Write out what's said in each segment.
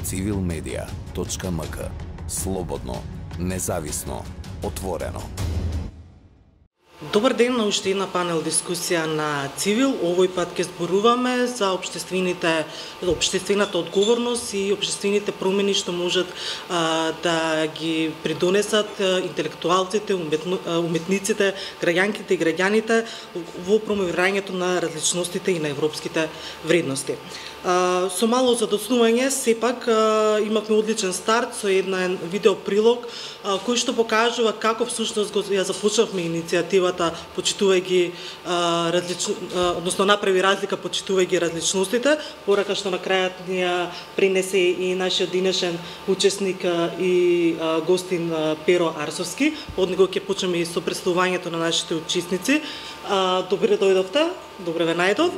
civilmedia.mk. Слободно, независно, отворено. Добар ден на уште една панел дискусија на Цивил. Овој пат ќе зборуваме за општествената одговорност и општествените промени што можат да ги придонесат интелектуалците, уметниците, граѓанките и граѓаните во промовирањето на различностите и на европските вредности. Со мало задоснување, сепак имавме одличен старт со еден видеоприлог кој што покажува како всушност ја започнавме иницијативата почитувајќи односно направи разлика почитувајќи различностите, порака што на крајот ни ја пренесе и нашиот денешен учесник и гостин Перо Арсовски. Од него ќе почнеме и со представувањето на нашите учесници. Добре дојдовте, добре ве најдов.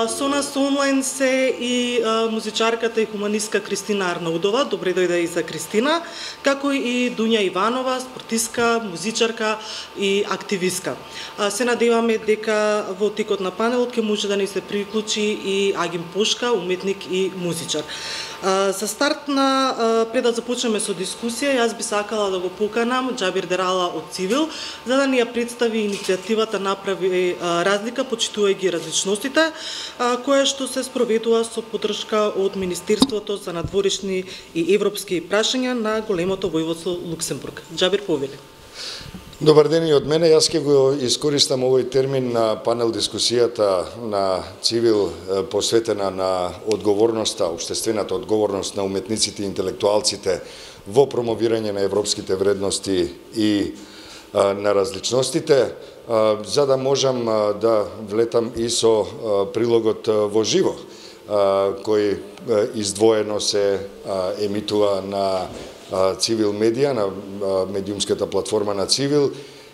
Со нас онлайн се и музичарката и хуманистка Кристина Арнаудова, добре дојде и за Кристина, како и Дуња Иванова, спортистка, музичарка и активистка. Се надеваме дека во текот на панелот ќе може да ни се приклучи и Агим Пошка, уметник и музичар. За старт пред да започнеме со дискусија, јас би сакала да го поканам Џабир Дерала од Цивил, за да ни ја представи иницијативата Направи разлика, почитувајќи различностите, која што се спроведува со поддршка од Министерството за надворешни и европски прашања на големото војводство Луксембург. Џабир, повели. Добар ден и од мене. Јас ќе го искористам овој термин на панел дискусијата на Цивил посветена на одговорноста, општествената одговорност на уметниците и интелектуалците во промовирање на европските вредности и на различностите, за да можам да влетам и со прилогот во живо, кој издвоено се емитува на Цивил медија, на медиумската платформа на Цивил,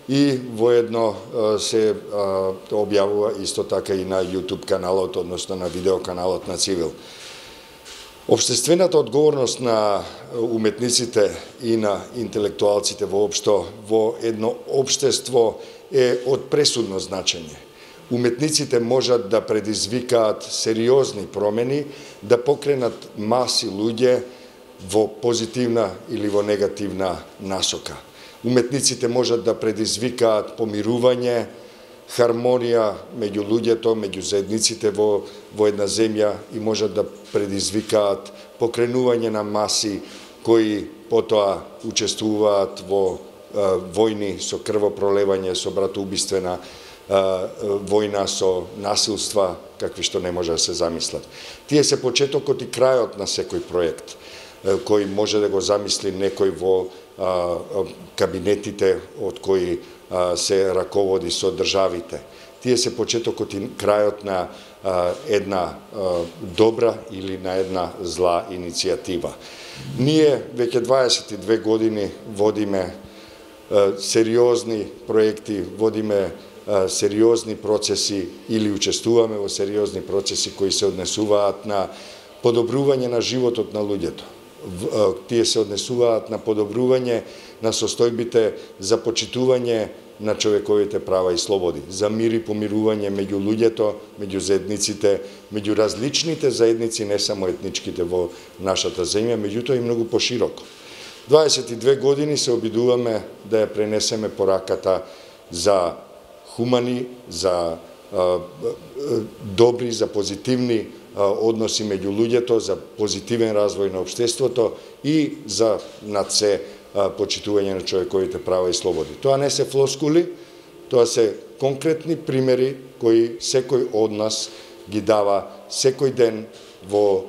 и воедно се објавува исто така и на YouTube каналот, односно на видеоканалот на Цивил. Општествената одговорност на уметниците и на интелектуалците воопшто во едно општество е од пресудно значење. Уметниците можат да предизвикаат сериозни промени, да покренат маси луѓе во позитивна или во негативна насока. Уметниците можат да предизвикаат помирување, хармонија меѓу луѓето, меѓу заедниците во една земја и можат да предизвикаат покренување на маси кои потоа учествуваат во војни со крвопролевање, со братоубиствена војна, со насилства какви што не може да се замислат. Тие се почетокот и крајот на секој проект кој може да го замисли некој во кабинетите од кои се раководи со државите. Тие се почетокот и крајот на една добра или на една зла иницијатива. Ние веќе 22 години водиме сериозни проекти, водиме сериозни процеси или учествуваме во сериозни процеси кои се однесуваат на подобрување на животот на луѓето. Тие се однесуваат на подобрување на состојбите за почитување на човековите права и слободи, за мир и помирување меѓу луѓето, меѓу заедниците, меѓу различните заедници, не само етничките во нашата земја, меѓутоа и многу пошироко. 22 години се обидуваме да ја пренесеме пораката за хумани, за добри, за позитивни односи меѓу луѓето, за позитивен развој на општеството и за над се почитување на човековите права и слободи. Тоа не се флоскули, тоа се конкретни примери кои секој од нас ги дава секој ден во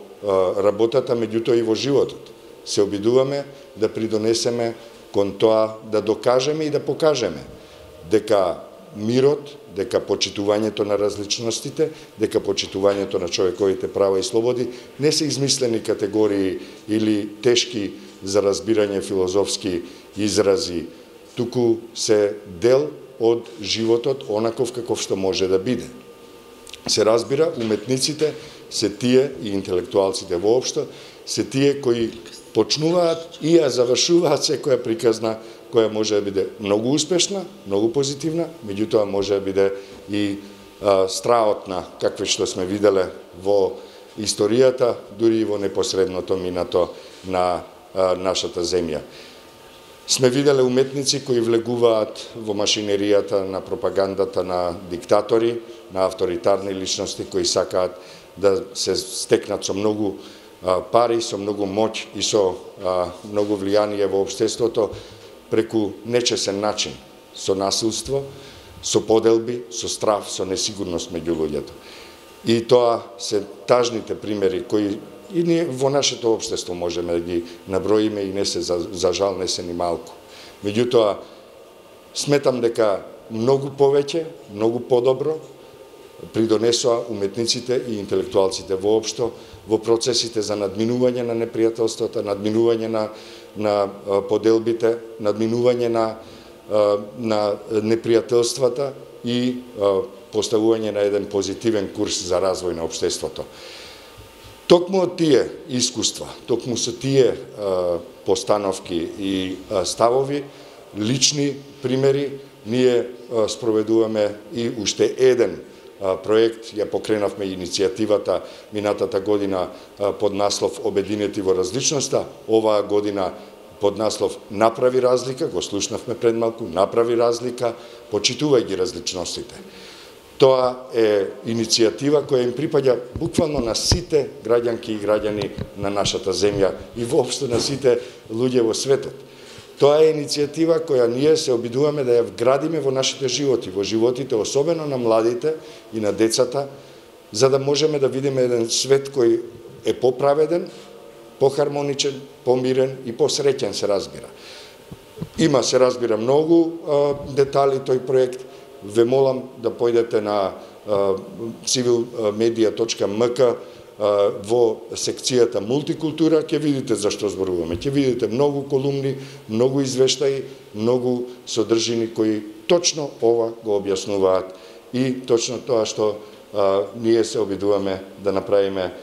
работата, меѓутоа и во животот. Се обидуваме да придонесеме кон тоа да докажеме и да покажеме дека мирот, дека почитувањето на различностите, дека почитувањето на човековите права и слободи не се измислени категории или тешки за разбирање филозофски изрази, туку се дел од животот онаков каков што може да биде. Се разбира, уметниците се тие и интелектуалците воопшто се тие кои почнуваат и ја завршуваат секоја приказна која може да биде многу успешна, многу позитивна, меѓутоа може да биде и страотна, какви што сме виделе во историјата, дури и во непосредното минато на нашата земја. Сме виделе уметници кои влегуваат во машинеријата на пропагандата на диктатори, на авторитарни личности кои сакаат да се стекнат со многу пари, со многу моќ и со многу влијание во општеството преку нечесен начин, со насилство, со поделби, со страв, со несигурност меѓу луѓето. И тоа се тажните примери кои и ние во нашето општество можеме да ги наброиме и не се за жал не се ни малку. Меѓутоа сметам дека многу повеќе, многу подобро придонесоа уметниците и интелектуалците воопшто во процесите за надминување на непријателствата, надминување на поделбите, надминување на непријателствата и поставување на еден позитивен курс за развој на општеството. Токму од тие искуства, токму со тие постановки и ставови, лични примери, ние спроведуваме и уште еден проект, ја покренавме иницијативата минатата година под наслов Обединети во различноста, оваа година под наслов Направи разлика, го слушнавме пред малку, Направи разлика, почитувај ги различностите. Тоа е иницијатива која им припаѓа буквално на сите граѓанки и граѓани на нашата земја и воопшто на сите луѓе во светот. Тоа е иницијатива која ние се обидуваме да ја вградиме во нашите животи, во животите особено на младите и на децата, за да можеме да видиме еден свет кој е поправеден, похармоничен, помирен и посреќен се разбира. Има се разбира многу детали тој проект. Ве молам да појдете на civilmedia.mk во секцијата мултикултура, ќе видите зашто зборуваме. Ќе видите многу колумни, многу извештаи, многу содржини кои точно ова го објаснуваат и точно тоа што ние се обидуваме да направиме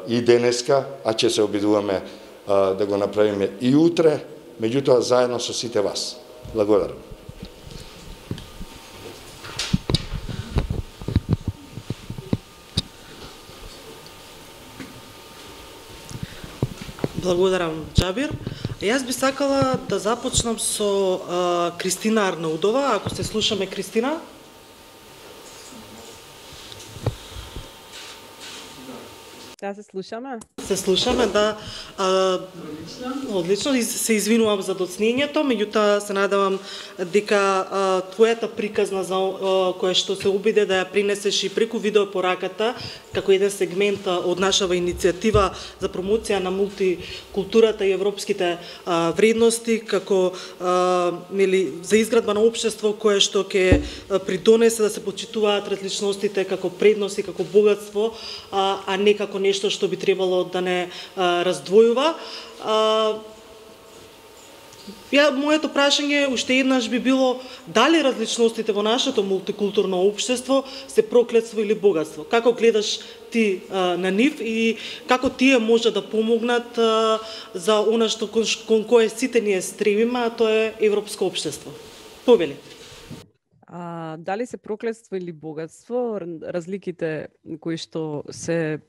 и денеска, а ќе се обидуваме да го направиме и утре, меѓутоа заедно со сите вас. Благодарам. Благодарам, Џабир. Јас би сакала да започнам со Кристина Арнаудова. Ако се слушаме, Кристина? Да, се слушаме. Се слушаме, да. Одлично. Се извинувам за доцнењето, меѓутоа се надевам дека твојата приказна за која што се обиде да ја принесеш и преку видеопораката како еден сегмент од нашава иницијатива за промоција на мултикултурата и европските вредности, како за изградба на општество кое што ќе придонесе да се почитуваат различностите како предност и како богатство, а не како нешто што би требало да не раздвојува. Моето прашање уште еднаш би било дали различностите во нашето мултикултурно општество се проклетство или богатство? Како гледаш ти на нив и како тие може да помогнат за она што кон кое сите ние стремиме, а тоа е европско општество? Повели. Дали се проклетство или богатство, разликите кои што се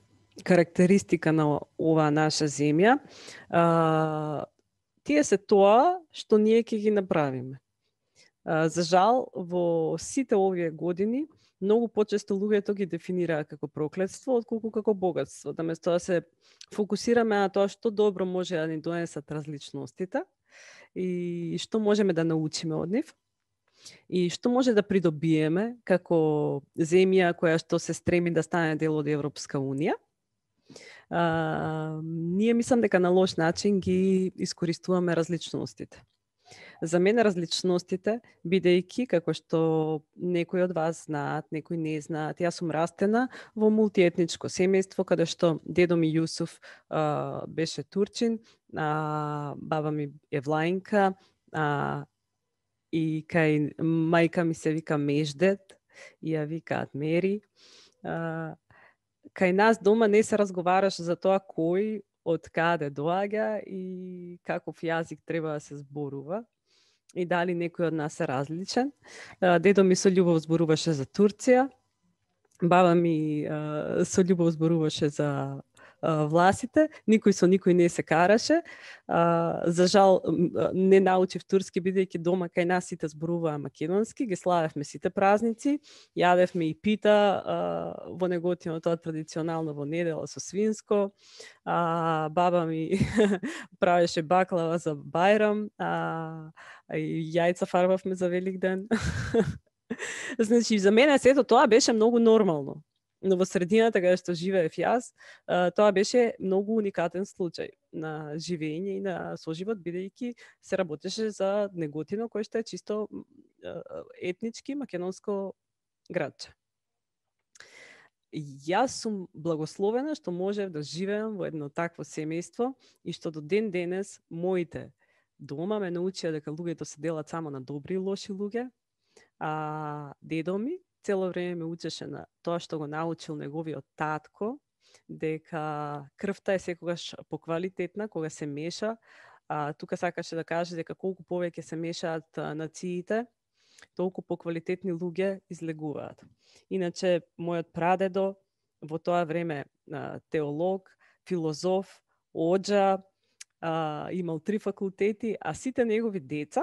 карактеристика на оваа наша земја, тие се тоа што ние ќе ги направиме. За жал, во сите овие години, многу почесто луѓето ги дефинираат како проклетство, отколку како богатство. Наместо да се фокусираме на тоа што добро може да ни донесат различностите и што можеме да научиме од нив, и што може да придобиеме како земја која што се стреми да стане дел од Европска унија. Ние мислам дека на лош начин ги искористуваме различностите. За мене различностите, бидејќи, како што некои од вас знаат, некои не знаат, јас сум растена во мултиетничко семејство, каде што дедо ми Јусуф беше турчин, баба ми е влаинка, и кај мајка ми се вика Междет, и ја викаат Мери. Кај нас дома не се разговараш за тоа кој од каде доаѓа и каков јазик треба да се зборува и дали некој од нас е различен. Дедо ми со љубов зборуваше за Турција Баба ми со љубов зборуваше за власите, никој со никој не се караше. За жал не научив турски, бидејќи дома кај нас сите зборуваа македонски, ги славевме сите празници, јадевме и пита во Неготино, тоа традиционално во недела со свинско. Баба ми правеше баклава за Бајрам, и јајца фарбавме за Великден. Значи, за мене сето тоа беше многу нормално. Но во средината каде што живеев јас, тоа беше многу уникатен случај на живење и на соживот, бидејќи се работеше за Неготино, кој што е чисто етнички македонско градче. Јас сум благословена што можев да живеам во едно такво семејство и што до ден денес моите дома ме научија дека луѓето се делат само на добри и лоши луѓе. Дедо ми цело време ме учеше на тоа што го научил неговиот татко, дека крвта е секогаш поквалитетна кога се меша. Тука сакаше да каже дека колку повеќе се мешаат нациите, толку поквалитетни луѓе излегуваат. Иначе, мојот прадедо во тоа време теолог, филозоф, оџа, имал 3 факултети, а сите негови деца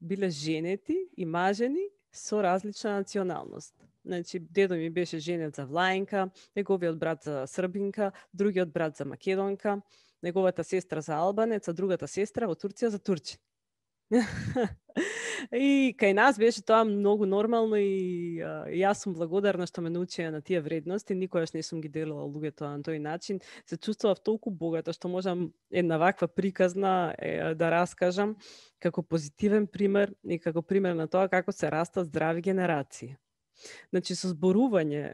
биле женети и мажени со различна националност. Значи, дедо ми беше женет за Влаенка, неговиот брат за Србинка, другиот брат за Македонка, неговата сестра за Албанец, а другата сестра во Турција за Турчин. И кај нас беше тоа многу нормално и јас сум благодарна што ме научија на тие вредности, никогаш не сум ги делила луѓето на тој начин. Се чувствував толку богата што можам една ваква приказна да раскажам како позитивен пример и како пример на тоа како се растат здрави генерации. Значи, со зборување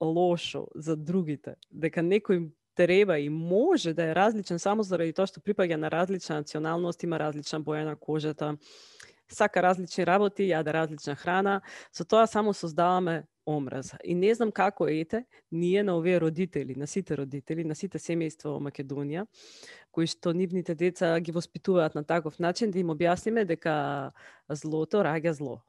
лошо за другите, дека некој треба и може да е различен само заради тоа што припаѓа на различна националност, има различна боја на кожата, сака различни работи, јаде различна храна, со тоа само создаваме омраза. И не знам како ние на овие родители, на сите семејства во Македонија, кои што нивните деца ги воспитуваат на таков начин, да им објасниме дека злото раѓа зло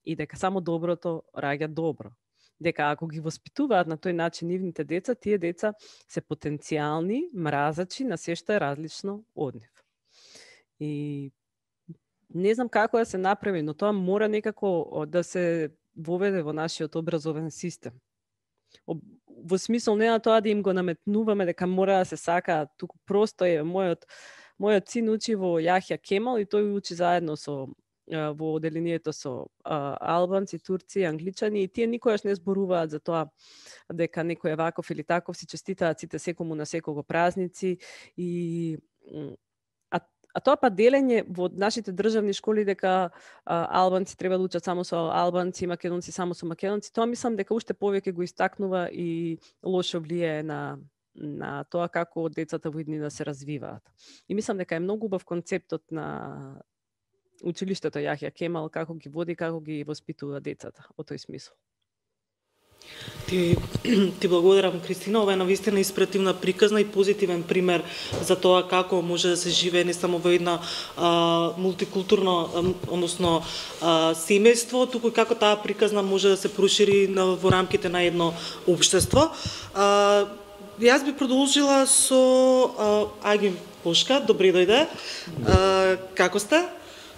и дека само доброто раѓа добро. Дека ако ги воспитуваат на тој начин нивните деца, тие деца се потенцијални мразачи на се што е различно од нив. И не знам како да се направи, но тоа мора некако да се воведе во нашиот образовен систем. Во смисол не на тоа да им го наметнуваме дека мора да се сакаат, туку просто е мојот син учи во Јахја Кемал и тој учи заедно во оделението со албанци, турци, англичани и тие никогаш не зборуваат за тоа дека некој е ваков или таков, си честитаат сите секому на секого празници и тоа па делење во нашите државни школи дека албанци треба да учат само со албанци, македонци само со македонци, тоа мислам дека уште повеќе го истакнува и лошо влијае на тоа како децата во иднина се развиваат. И мислам дека е многу убав концептот на училиштето Јахја Кемал, како ги води, како ги воспитува децата, во тој смисол. Ти благодарам, Кристина. Ова е навистина инспиративна приказна и позитивен пример за тоа како може да се живее не само во една мултикултурно, односно семејство, туку како таа приказна може да се прошири во рамките на едно општество. Јас би продолжила со Агим Пошка. Добри дојде. Како сте?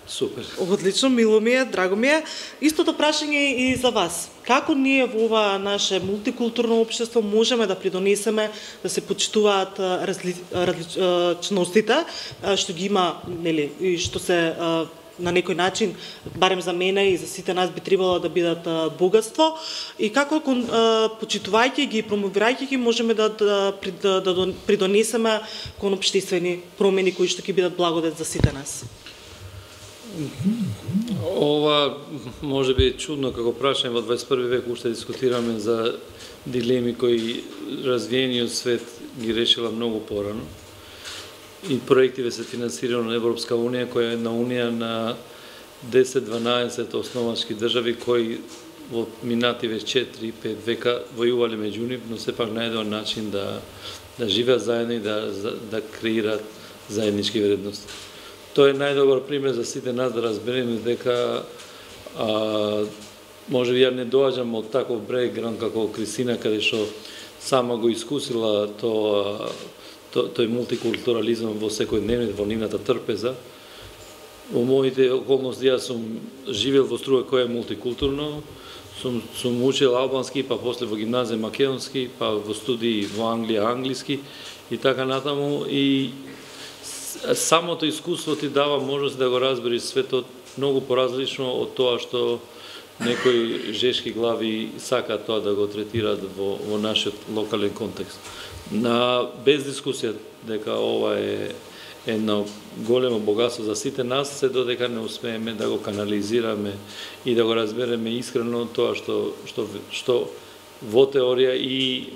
Супер. Одлично, мило ми е, драго ми е. Истото прашање и за вас. Како ние во ова наше мултикултурно општество можеме да придонесеме да се почитуваат различностите, што ги има, нели, и што се на некој начин, барем за мене и за сите нас би требало да бидат богатство, и како почитувајќи ги и промовирајќи ги можеме да придонесеме кон општествени промени кои што ќе бидат благодет за сите нас. Ова може би чудно како прашање во 21 век, уште дискутираме за дилеми кои развиениот свет ги решила многу порано. И проективе се финансирани на Европска унија, која е една унија на 10-12 основачки држави кои во минативе 4-5 века војувале меѓу нив, но сепак најдоа начин да живеат заедно и да креираат заеднички вредности. Тоа е најдобар пример за сите нас да разбереме дека може би ја не доаѓам од таков бекграунд како Кристина, каде што сама го искусила тој мултикултурализам во секојдневниот, во нивната трпеза. Во моите околности јас сум живеел во Струга која е мултикултурно, сум учел албански, па после во гимназија македонски, па во студии во Англија англиски и така натаму, и самото искуство ти дава можност да го разбереш светот многу поразлично од тоа што некои жешки глави сакаат тоа да го третираат во нашиот локален контекст. Без дискусија дека ова е едно големо богатство за сите нас, се додека не успееме да го канализираме и да го разбереме искрено тоа што во теорија и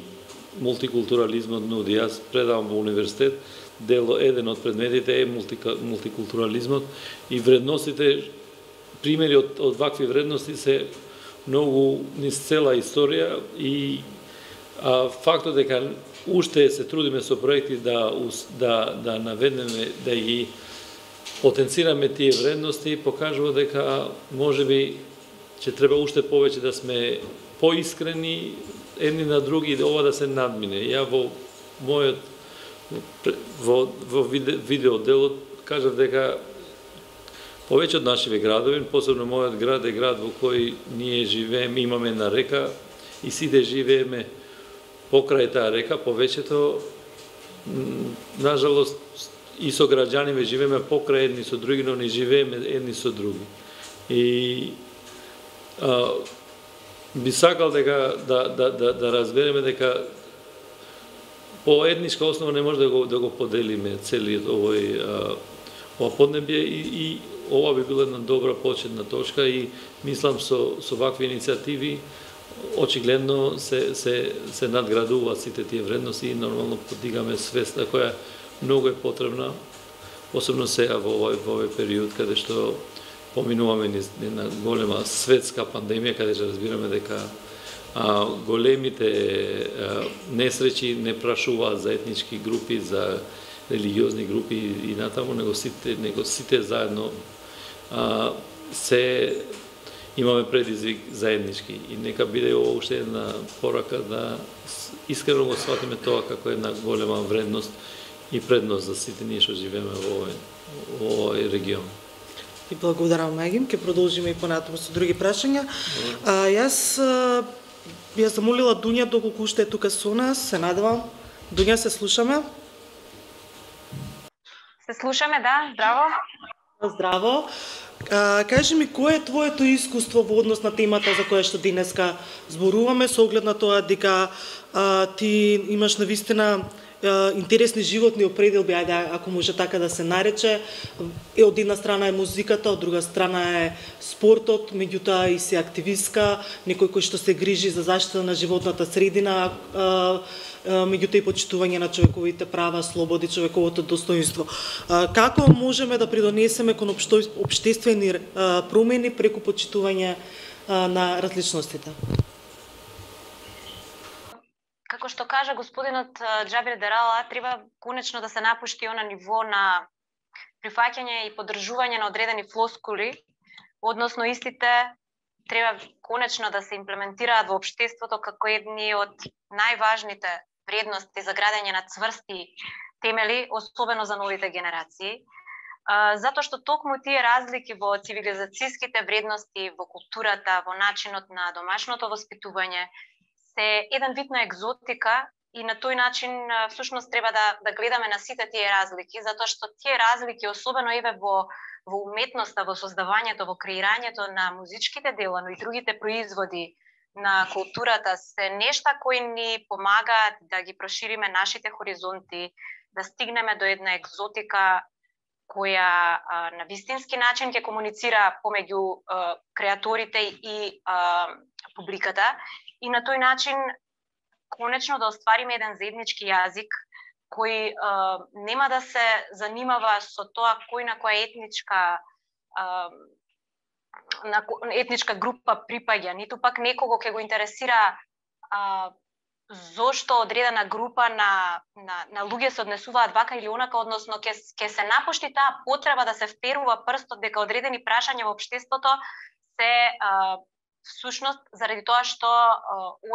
мултикултурализмот нуди. Јас предавам во универзитет, еден од предметите е мултикултурализмот и вредностите, примери од вакви вредности се многу низ цела историја и фактот дека уште се трудиме со проекти да наведеме, да ги потенцираме тие вредности, покажува дека можеби ќе треба уште повеќе да сме поискрени едни на други и ова да се надмине. Ја во мојот видеоделот кажав дека повеќе од нашиве градови, посебно мојот град е град во кој ние живееме, имаме една река и сите живееме покрај таа река, повеќето, нажалост, и со граѓаниве живееме покрај едни со други, но не живееме едни со други. И би сакал дека да разбереме дека по етничка основа не може да го поделиме целиот ова поднебје и ова би била една добра почетна точка и мислам со вакви иницијативи очигледно се надградуваат сите тие вредности и нормално подигаме свеста која многу е потребна, посебно сега во овој период каде што поминуваме една голема светска пандемија, каде што разбираме дека големите несреќи не прашуваат за етнички групи, за религиозни групи и натаму, него сите заедно се имаме предизвик заеднички и нека биде ова уште една порака да искрено го сватиме тоа како една голема вредност и предност за сите ние што живееме во овој регион. И благодарам, Мегим. Ке продолжиме и понатаму со други прашања. Јас би ја замолила Дуња, доколку уште е тука со нас, се надевам. Дуња, се слушаме? Се слушаме, да. Здраво. Здраво. Кажи ми, кое е твоето искуство во однос на темата за која што денеска зборуваме, со оглед на тоа дека ти имаш навистина интересни животни определби, ајде, ако може така да се нарече. Од една страна е музиката, од друга страна е спортот, меѓутоа и си активистка, некој кој што се грижи за заштита на животната средина, меѓутоа и почитување на човековите права, слободи, човековото достоинство. Како можеме да придонесеме кон општествени промени преку почитување на различностите? Како што кажа господинот Џабир Дерала, треба конечно да се напушти она ниво на прифаќање и поддржување на одредени флоскули, односно истите треба конечно да се имплементираат во општеството како едни од најважните вредности за градење на цврсти темели, особено за новите генерации. Затоа што токму тие разлики во цивилизацијските вредности, во културата, во начинот на домашното воспитување, се еден вид на екзотика и на тој начин всушност треба да гледаме на сите тие разлики, затоа што тие разлики, особено еве во уметноста, во создавањето, во креирањето на музичките дела, но и другите производи на културата, се нешта кои ни помагаат да ги прошириме нашите хоризонти, да стигнеме до една екзотика која на вистински начин ќе комуницира помеѓу креаторите и публиката, и на тој начин конечно да оствариме еден заеднички јазик кој нема да се занимава со тоа кој на која етничка група припаѓа, ниту пак некого ќе го интересира зошто одредена група на луѓе се однесуваат вака или онака, односно ќе се напушти таа потреба да се вперува прстот дека одредени прашања во општеството се всушност заради тоа што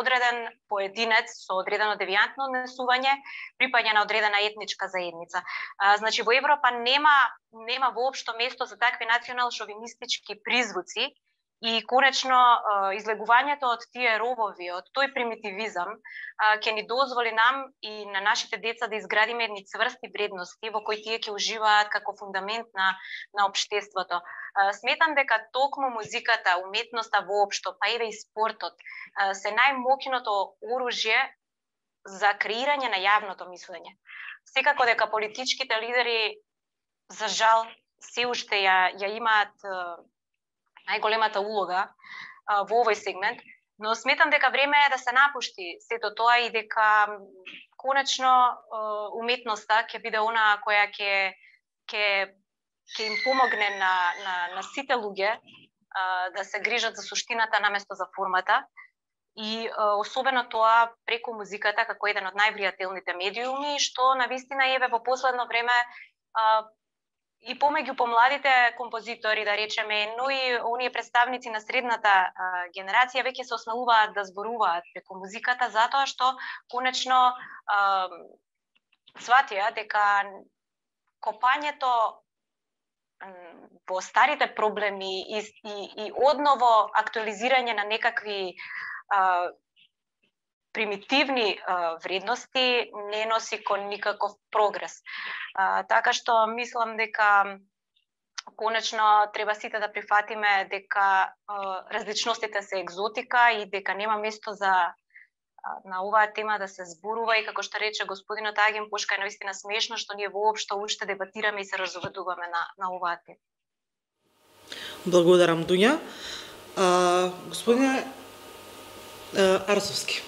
одреден поединец со одредено девијантно однесување припаѓа на одредена етничка заедница. Значи во Европа нема воопшто место за такви национал-шовинистички призвуци и конечно излегувањето од тие робови, од тој примитивизам ќе ни дозволи нам и на нашите деца да изградиме едни цврсти вредности во кои тие ќе уживаат како фундамент на општеството. Сметам дека токму музиката, уметноста воопшто, па еве и спортот се најмокното оружје за креирање на јавното мислење. Секако дека политичките лидери за жал се уште ја имаат најголемата улога во овој сегмент, но сметам дека време е да се напушти сето тоа и дека конечно уметноста ќе биде она која ќе им помогне на сите луѓе да се грижат за суштината наместо за формата и особено тоа преку музиката како еден од највлијателните медиуми, што навистина еве во последно време и помеѓу помладите композитори, да речеме, но и оние представници на средната генерација веќе се осмелуваат да зборуваат преку музиката, затоа што конечно сватија дека копањето во старите проблеми и одново актуализирање на некакви примитивни вредности не носи кон никаков прогрес. Така што мислам дека конечно треба сите да прифатиме дека различностите се екзотика и дека нема место за на оваа тема да се зборува и како што рече господинот Агим Пушка е навистина смешно што ние воопшто уште дебатираме и се разуведуваме на оваа тема. Благодарам, Дуња. Господине Арсовски,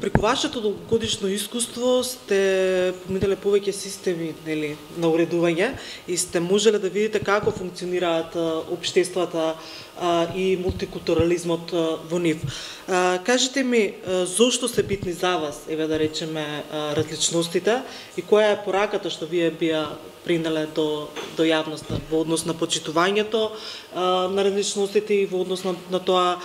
преку вашето долгогодишно искуство сте поминале повеќе системи, нели, на уредување и сте можеле да видите како функционираат општествата и мултикултурализмот во нив. Кажете ми, зошто се битни за вас, еве да речеме, различностите и која е пораката што вие бија принеле до јавноста во однос на почитувањето на различностите и во однос на тоа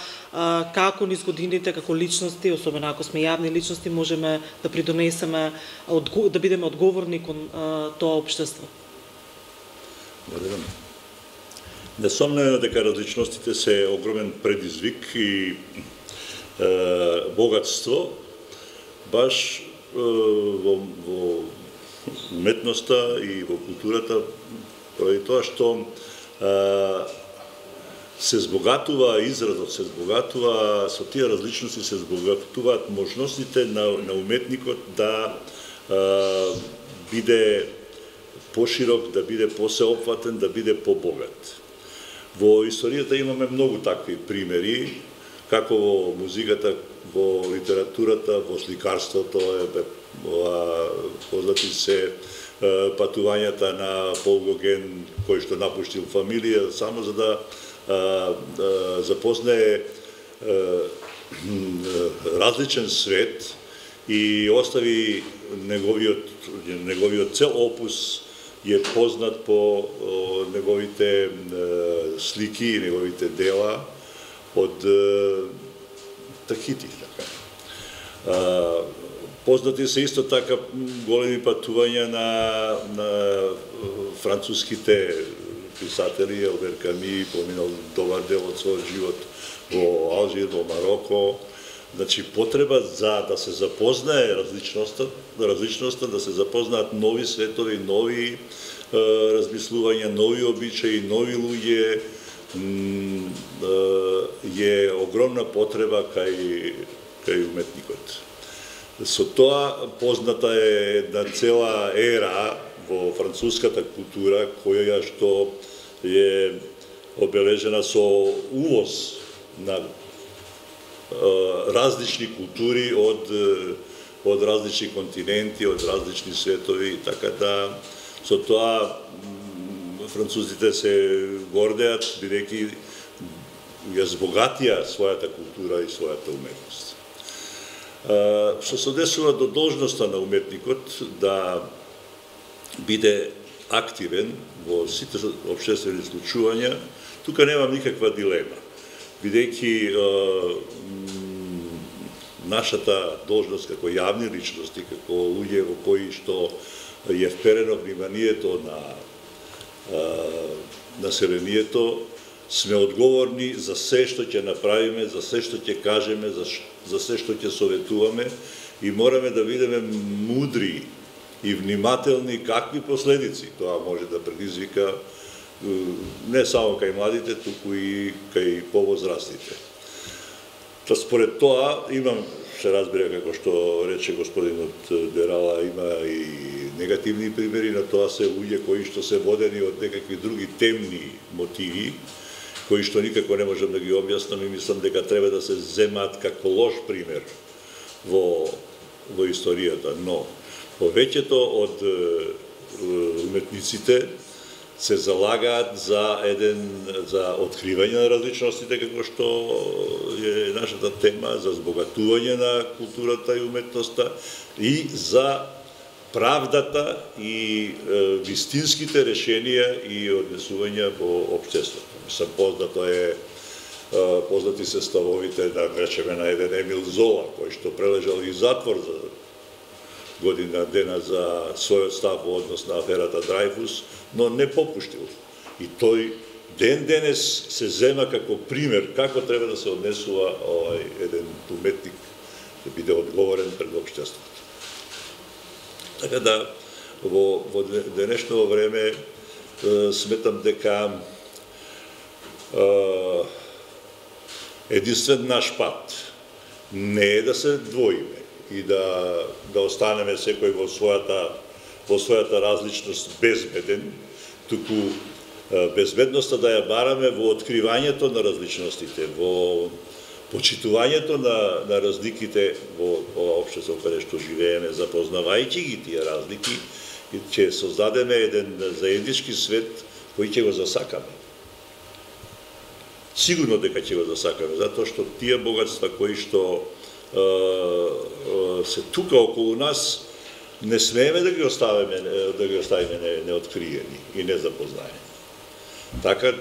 како низ годините, како личности, особено ако сме јавни личности, можеме да придонесеме, да бидеме одговорни кон тоа општество? Благодарам. Несомнено дека различностите се огромен предизвик и богатство, баш во уметноста и во културата, поради тоа што се збогатува изразот, се збогатува со тие различности, се збогатуваат можностите на уметникот да биде поширок, да биде посеопфатен, да биде побогат. Во историјата имаме многу такви примери, како во музиката, во литературата, во сликарството, познати се патувањата на Пол Гоген, кој што напуштил фамилија, само за да запознае различен свет и остави неговиот цел опус е познат по неговите слики, неговите дела од Тахити. Познати се исто така големи патувања на француските писатели, Албер Ками, поминал добар дел од својот живот во Алжир, во Мароко. Значи, потреба за да се запознае различноста, да се запознаат нови светови, нови размислувања, нови обичаи, нови луѓе, е огромна потреба кај уметникот. Со тоа позната е една цела ера во француската култура, која што е обележена со увоз на различни култури од различни континенти, од различни светови, така да со тоа французите се гордеат, бидејќи ја збогатија својата култура и својата уметност. Што се однесува до должноста на уметникот да биде активен во сите општествени случувања, тука нема никаква дилема. бидејќи нашата должност како јавни личности, како луѓе во кои што е вперено вниманието на населението, сме одговорни за се што ќе направиме, за се што ќе кажеме, за се што ќе советуваме и мораме да бидеме мудри и внимателни какви последици тоа може да предизвика не само кај младите, туку и кај повозрастните. Та според тоа имам, се разбира како што рече господинот Дерала, има и негативни примери на тоа, се луѓе кои што се водени од некакви други темни мотиви, кои што никако не можам да ги објаснам и мислам дека треба да се земат како лош пример во историјата, но повеќето од уметниците се залагаат за откривање на различностите, како што е нашата тема, за збогатување на културата и уметноста и за правдата и вистинските решенија и однесувања во општеството. Мислам, познати се ставовите, да речеме, на еден Емил Зола, кој што прележал и затвор за година дена за својот став во однос на аферата Драјфус, но не попуштил. И тој ден денес се зема како пример како треба да се однесува еден уметник да биде одговорен пред општеството. Така да, во денешно време сметам дека единствен наш пат не е да се двоиме и да останеме секој во својата различност безбеден, туку безбедноста да ја бараме во откривањето на различностите, во почитувањето на разликите во општество каде што живееме, запознавајќи ги тие разлики, ќе создадеме еден заеднички свет кој ќе го засакаме. Сигурно дека ќе го засакаме, затоа што тие богатства кои што се тука околу нас, не смееме да ги оставиме неоткриени и незапознаени. Така,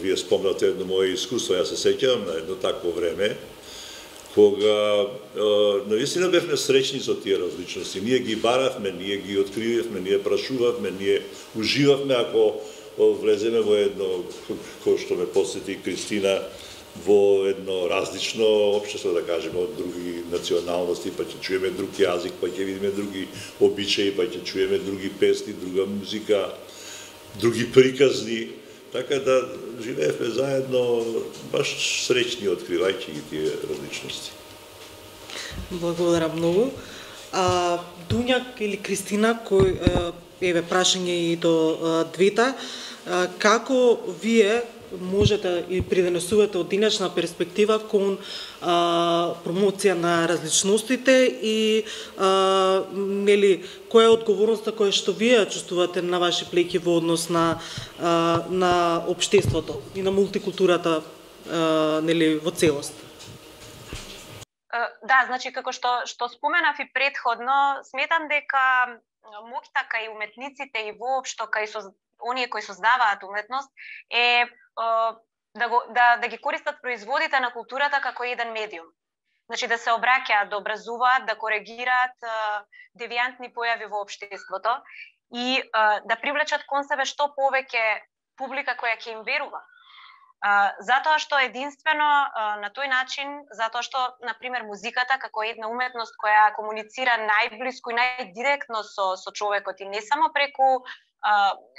вие спомнате едно моје искуство, јас се сеќавам на едно такво време, кога наистина бевме среќни со тие различности. Ние ги баравме, ние ги откривавме, ние прашувавме, ние уживавме ако влеземе во едно, кој што ме посети Кристина, во едно различно општество, да кажеме, од други националности, па ќе чуеме друг јазик, па ќе видиме други обичаи, па ќе чуеме други песни, друга музика, други приказни, така да живеевме заедно баш среќни, откривајќи ги тие различности. Благодарам многу. Дуња или Кристина, кој еве прашање и до двете, како вие можете и придонесувате од денешна перспектива кон промоција на различностите и нели која е одговорноста која што вие чувствувате на ваши плеќи во однос на општеството и на мултикултурата нели во целост? Да, значи како што споменав и претходно, сметам дека моќта кај уметниците и воопшто кај оние кои создаваат уметност е да ги користат производите на културата како еден медиум. Значи да се обраќаат, да образуваат, да коригираат девијантни појави во општеството и да привлечат кон себе што повеќе публика која ќе им верува. Затоа што единствено на тој начин, затоа што, например, музиката како една уметност која комуницира најблиску и најдиректно со човекот и не само преку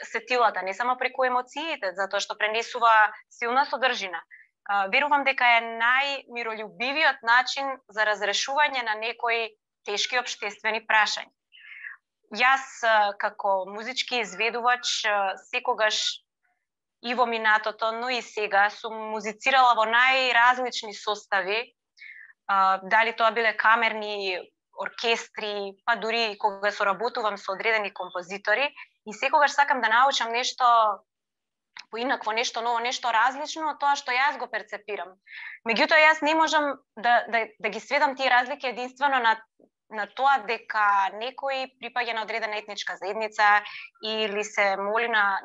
сетилата, не само преку емоциите, затоа што пренесува силна содржина. Верувам дека е најмиролюбивиот начин за разрешување на некои тешки општествени прашања. Јас, како музички изведувач, секогаш и во минатото, но и сега, сум музицирала во најразлични состави, дали тоа биле камерни оркестри, па дури кога соработувам со одредени композитори, и секогаш сакам да научам нешто поинакво, нешто ново, нешто различно од тоа што јас го перцепирам. Меѓутоа, јас не можам да ги сведам тие разлики единствено на тоа дека некој припаѓа на одредена етничка заедница или се моли на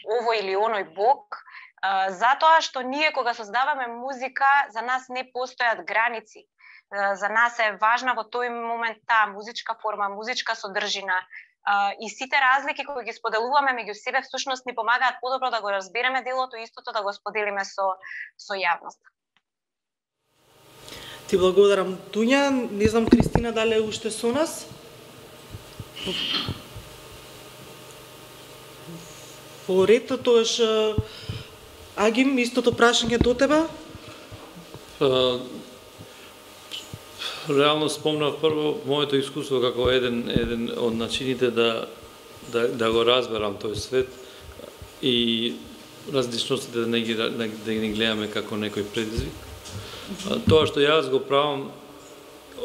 овој или оној бог, Затоа што ние кога создаваме музика, за нас не постојат граници. За нас е важна во тој момент таа музичка форма, музичка содржина. И сите разлики кои ги споделуваме меѓу себе всушност ни помагаат подобро да го разбереме делото и истото да го споделиме со јавноста. Ти благодарам, Туња. Не знам, Кристина, дали е уште со нас? Во ред, тоаш Агим, истото прашање до тебе? Реално спомнав прво моето искуство како еден од начините да го разберам тој свет и различностите да не ги гледаме како некој предизвик. Тоа што јас го правам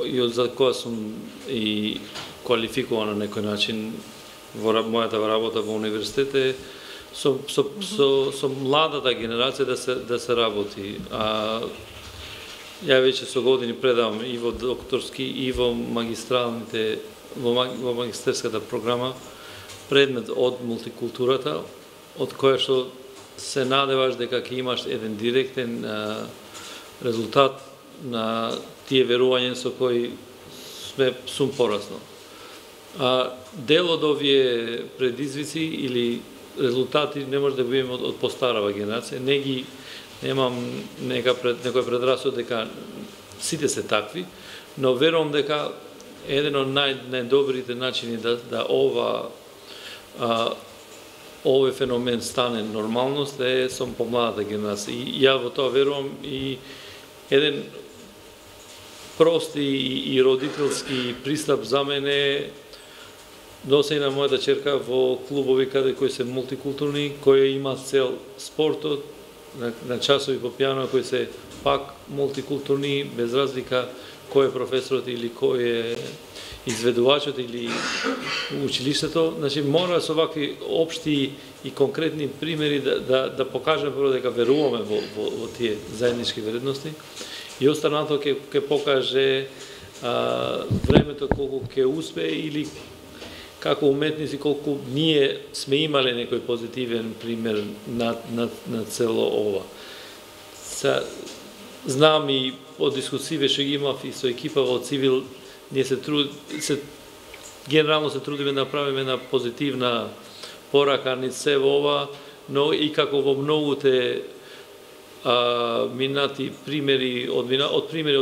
и за која сум и квалификуван на некој начин во мојата работа во универзитет е со младата генерација да се работи. Ја веќе со години предавам и во докторски и во магистралните, во магистерската програма предмет од мултикултурата, од која што се надеваш дека ќе имаш еден директен резултат на тие верувања со кои сум пораснал. Дел од овие предизвици или резултати не може да го имаме од постарава генерација. Немам некој предрасуд дека сите се такви, но верувам дека еден од најдобрите начини да овој феномен стане нормалност е со помладата генерација. И ја во тоа верувам и еден прост и родителски пристап за мене носи на мојата черка во клубови кои се мултикултурни, кои имаат цел спортот, на часови по пијано кои се пак мултикултурни, без разлика кој е професорот или кој е изведувачот или училиштето. Значи, мора со вакви општи и конкретни примери да покажеме прво дека веруваме во тие заеднички вредности и останато ќе покаже времето колку ќе успее или како уметници, колку ние сме имале некој позитивен пример на цело ова. Знам и од дискусиве што ги имав и со екипа во Цивил, ние генерално се трудиме да направиме една позитивна порака низ се во ова, но и како во многуте минати примери од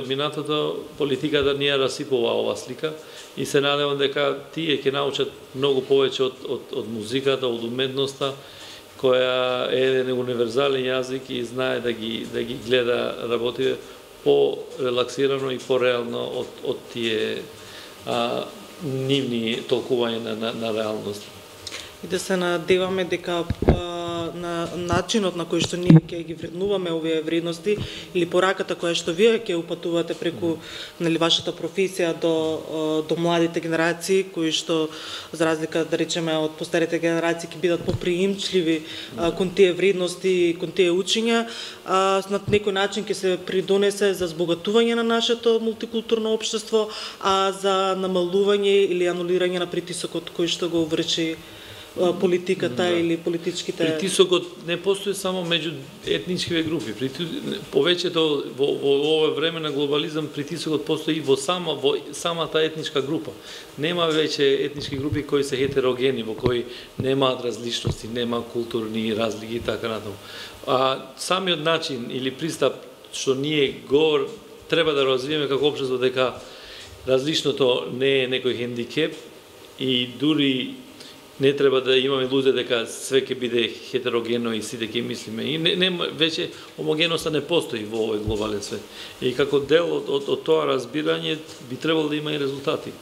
минатото, политиката ни ја расипува ова слика и се надевам дека тие ќе научат многу повеќе од музиката, од уметноста, која е еден универзален јазик и знае да ги гледа работите по-релаксирано и по-реално од тие нивни толкувања на реалност. И да се надеваме дека на начинот на кој што ние ќе ги вреднуваме овие вредности или пораката која што вие ќе упатувате преку вашата професија до младите генерации кои што за разлика да речеме од постарите генерации ќе бидат поприимчливи кон тие вредности и кон тие учења, на некој начин ќе се придонесе за збогатување на нашето мултикултурно општество, а за намалување или анулирање на притисокот кој што го врши политиката или политичките... Притисокот не постои само меѓу етничките групи. Повеќето во ова време на глобализам притисокот постои и во самата етничка група. Нема веќе етнички групи кои се хетерогени, во кои немаат различности, нема културни разлики и така натаму. Самиот начин или пристап што ние го треба да развиеме како општество дека различното не е некој хендикеп и дури не треба да имаме илузија дека све ќе биде хетерогенно и сите ќе мислиме. И веќе хомогеноста не постои во овој глобален свет. И како дел од тоа разбирање би требало да има и резултати.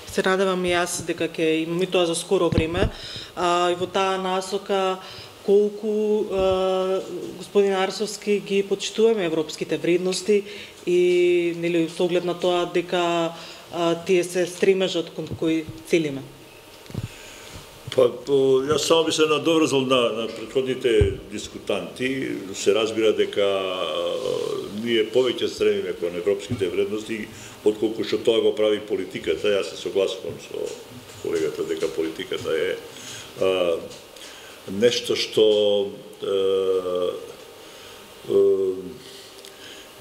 Се надевам и јас дека ќе имаме тоа за скоро време. И во таа насока колку господин Арсовски ги почитуваме европските вредности и нели со оглед на тоа дека тие се стремежот кон кој целиме. Јас само би се надоврзал на претходните дискутанти. Се разбира дека ние повеќе стремиме кон европските вредности, отколку што тоа го прави политиката. Јас се согласувам со колегата дека политиката е нешто што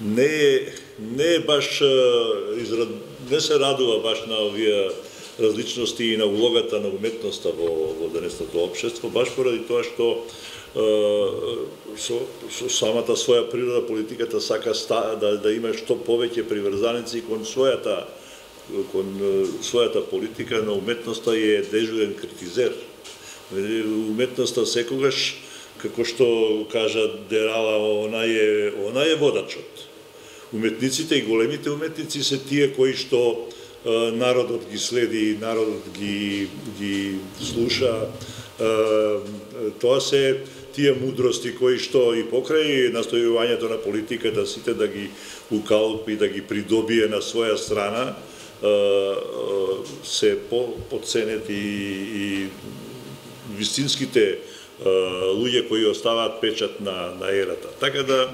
не е баш не се радува баш на овие различности и на улогата на уметноста во денесното општество, баш поради тоа што со самата своја природа политиката сака да има што повеќе приврзаници кон својата политика, на уметноста е дежурен критизер. Уметноста секогаш, како што кажа Дерала, она е водачот. Уметниците и големите уметници се тие кои што народот ги следи, народот ги слуша. Тоа се тие мудрости кои што и покрај настојувањето на политиката сите да ги укалпи, да ги придобие на своја страна, се подценет и вистинските луѓе кои оставаат печат на ерата. Така да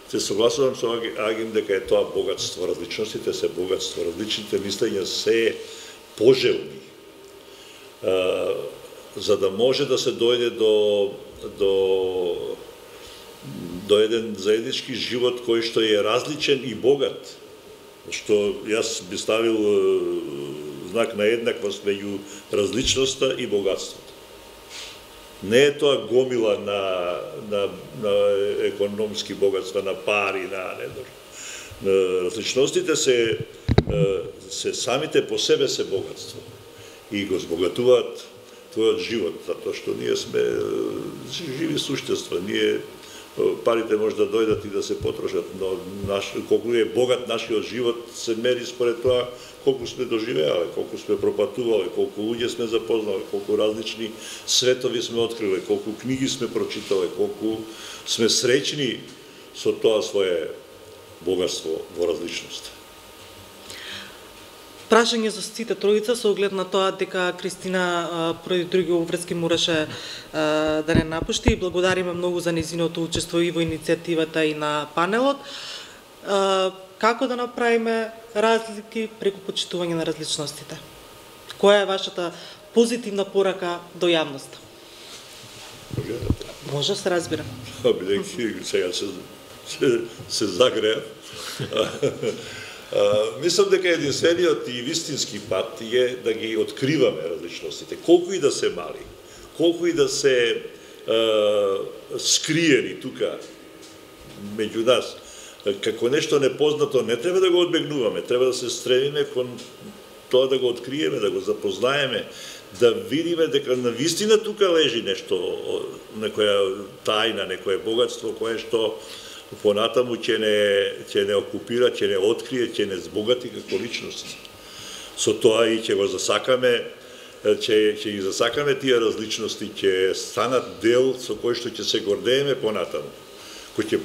се согласувам со Агим дека е тоа богатство, различностите се богатство, различните мислења се пожелни, за да може да се дојде до еден заеднички живот кој што е различен и богат, што јас би ставил знак на еднаквост меѓу различноста и богатството. Не е тоа гомила на економски богатства, на пари, на различностите се самите по себе се богатство и го збогатуваат твојот живот, затоа што ние сме живи суштества, ние парите може да дојдат и да се потрошат, но колку е богат нашиот живот се мери според тоа колку сме доживеале, колку сме пропатувале, колку луѓе сме запознале, колку различни светови сме откриле, колку книги сме прочитале, колку сме среќни со тоа свое богатство во различност. Прашање за сите тројица со оглед на тоа дека Кристина поради други обврски мораше да не напушти. Благодариме многу за нејзиното учество и во иницијативата и на панелот. Како да направиме разлики преку почитување на различностите? Која е вашата позитивна порака до јавноста? Може се разбира. Бидејќи сега се загреа. Мислам дека единствениот и вистински пат е да ги откриваме различностите, колку и да се мали, колку и да се скриени тука меѓу нас, како нешто непознато, не треба да го одбегнуваме, треба да се стремиме кон тоа да го откриеме, да го запознаеме, да видиме дека навистина тука лежи нешто, некоја тајна, некое богатство кое што понатаму ќе не окупира, ќе не открие, ќе не збогати како личност. Со тоа и ќе го засакаме, ќе ги засакаме тие различности, ќе станат дел со кој што ќе се гордееме понатаму. Кој ќе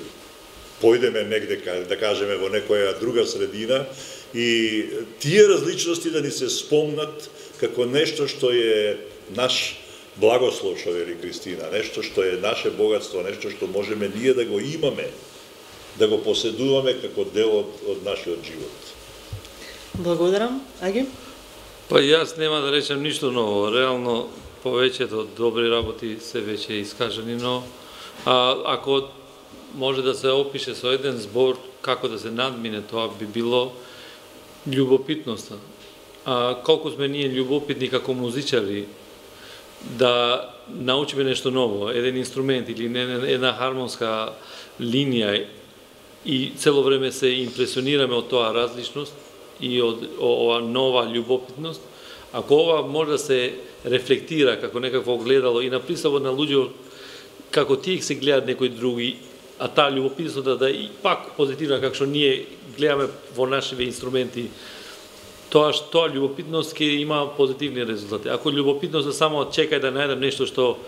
појдеме негде, да кажеме, во некоја друга средина и тие различности да ни се спомнат како нешто што е наш благослов, што вели Кристина, нешто што е наше богатство, нешто што можеме ние да го имаме, да го поседуваме како дел од нашиот живот. Благодарам. Аги? Па јас нема да речем ништо ново. Реално повеќето добри работи се веќе искажани, но ако може да се опише со еден збор како да се надмине, тоа би било љубопитноста. Колку сме ние љубопитни како музичари да научиме нешто ново, еден инструмент или една хармонска линија и цело време се импресионираме од тоа различност и од ова нова љубопитност, ако ова може да се рефлектира како некакво огледало и наприсаво на луѓе како тие се гледаат некои други, а таа љубопитност да и пак позитивна како што ние гледаме во нашите инструменти, тоа љубопитност ќе има позитивни резултати. Ако љубопитност само чекај да најдам нешто што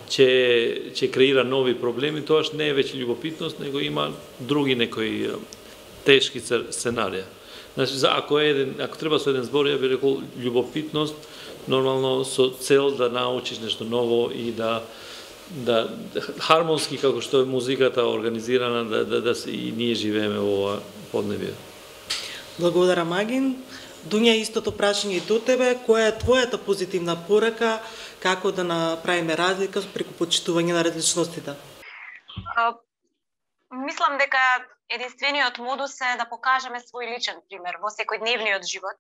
ќе креира нови проблеми, тоа не е веќе љубопитност, него има други некои тешки сценарија. Значи, ако треба со еден збор, ја би рекол љубопитност, нормално со цел да научиш нешто ново и да хармонски, како што е музиката организирана, да и ние живееме во ова поднебие. Благодарам, Агин. Дуња, истото прашање и до тебе. Која е твојата позитивна порака, како да направиме разлика преку почитување на различностите? Мислам дека единствениот модус е да покажеме свој личен пример во секојдневниот живот.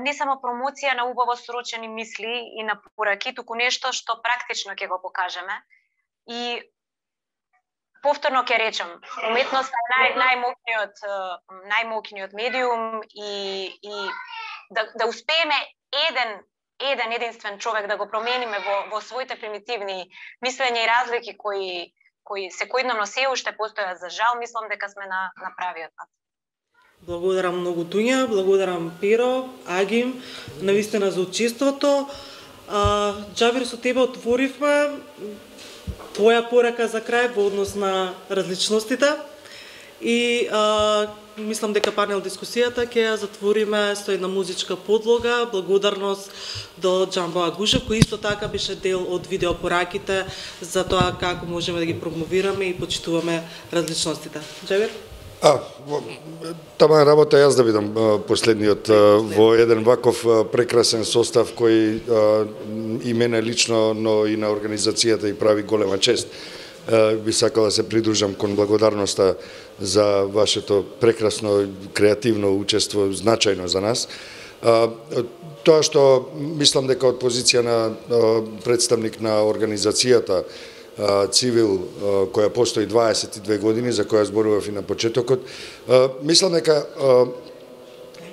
Не само промоција на убаво срочени мисли и на пораки, туку нешто што практично ќе го покажеме. И повторно ќе речем, уметноста е најмокниот медиум и да успееме единствен човек да го промениме во своите примитивни мислења и разлики кои секојдневно се уште постојат, за жал, мислам дека сме на правиот пат. Благодарам многу Туња, благодарам Перо, Агим, навистина за учеството. Џабир, со тебе отворивме твоја порака за крај во однос на различностите и мислам дека панел дискусијата ќе ја затвориме со една музичка подлога, благодарност до Џамбо Агушев, кој исто така беше дел од видеопораките за тоа како можеме да ги промовираме и почитуваме различностите. Џабир? Тама работа јас да бидам последниот во еден ваков прекрасен состав кој и мене лично, но и на организацијата и прави голема чест. Би сакал да се придружам кон благодарноста за вашето прекрасно креативно учество, значајно за нас. Тоа што мислам дека од позиција на представник на организацијата Цивил, која постои 22 години, за која зборував и на почетокот, мислам дека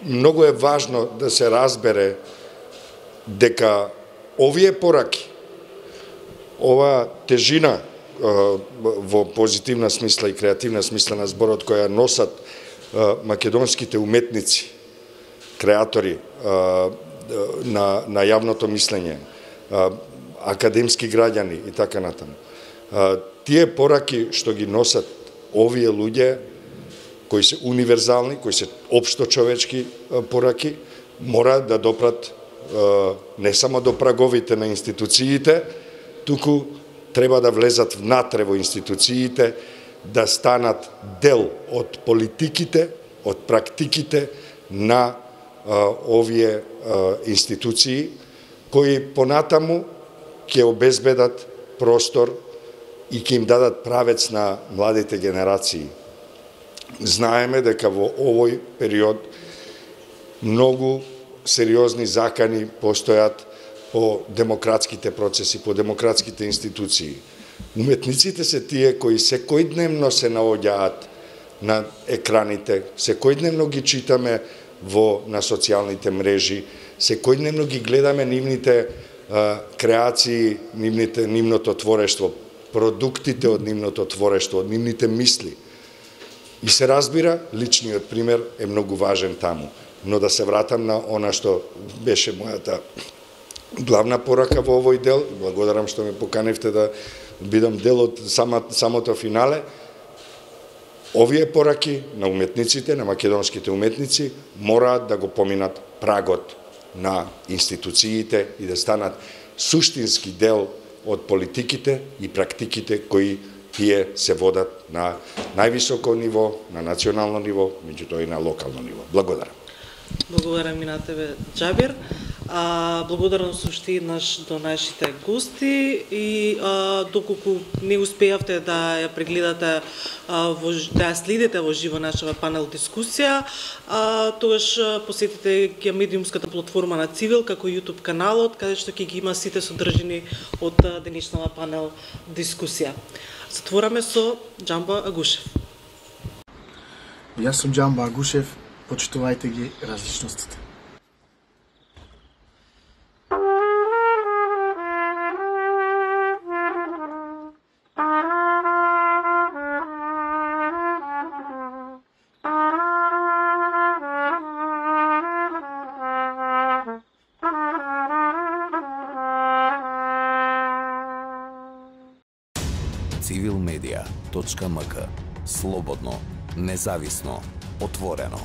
многу е важно да се разбере дека овие пораки, ова тежина во позитивна смисла и креативна смисла на зборот која носат македонските уметници, креатори на јавното мислење, академски граѓани и така натаму. Тие пораки што ги носат овие луѓе, кои се универзални, кои се општо човечки пораки, мора да допрат не само до праговите на институциите, туку треба да влезат внатре во институциите, да станат дел од политиките, од практиките на овие институции, кои понатаму ќе обезбедат простор и ќе им дадат правец на младите генерации. Знаеме дека во овој период многу сериозни закани постојат по демократските процеси, по демократските институции. Уметниците се тие кои секојдневно се наоѓаат на екраните, секојдневно ги читаме на социјалните мрежи, секојдневно ги гледаме нивните креации, нивното творештво, продуктите од нивното творештво, од нивните мисли. И се разбира, личниот пример е многу важен таму. Но да се вратам на она што беше мојата главна порака во овој дел, благодарам што ме поканевте да бидам дел од самото финале. Овие пораки на уметниците, на македонските уметници, мораат да го поминат прагот на институциите и да станат суштински дел од политиките и практиките кои тие се водат на највисоко ниво, на национално ниво, меѓутоа и на локално ниво. Благодарам. Благодарам и на тебе, Џабир. Благодарност уште еднаш до нашите гости и доколку не успеавте да ја прегледате, да ја следите во живо нашава панел дискусија, тогаш посетите ја медиумската платформа на Цивил како YouTube каналот, каде што ќе ги има сите содржини од денешната панел дискусија. Затвораме со Џамбо Агушев. Јас сум Џамбо Агушев, почитувајте ги различностите. Civilmedia.mk. Слободно, независно, отворено.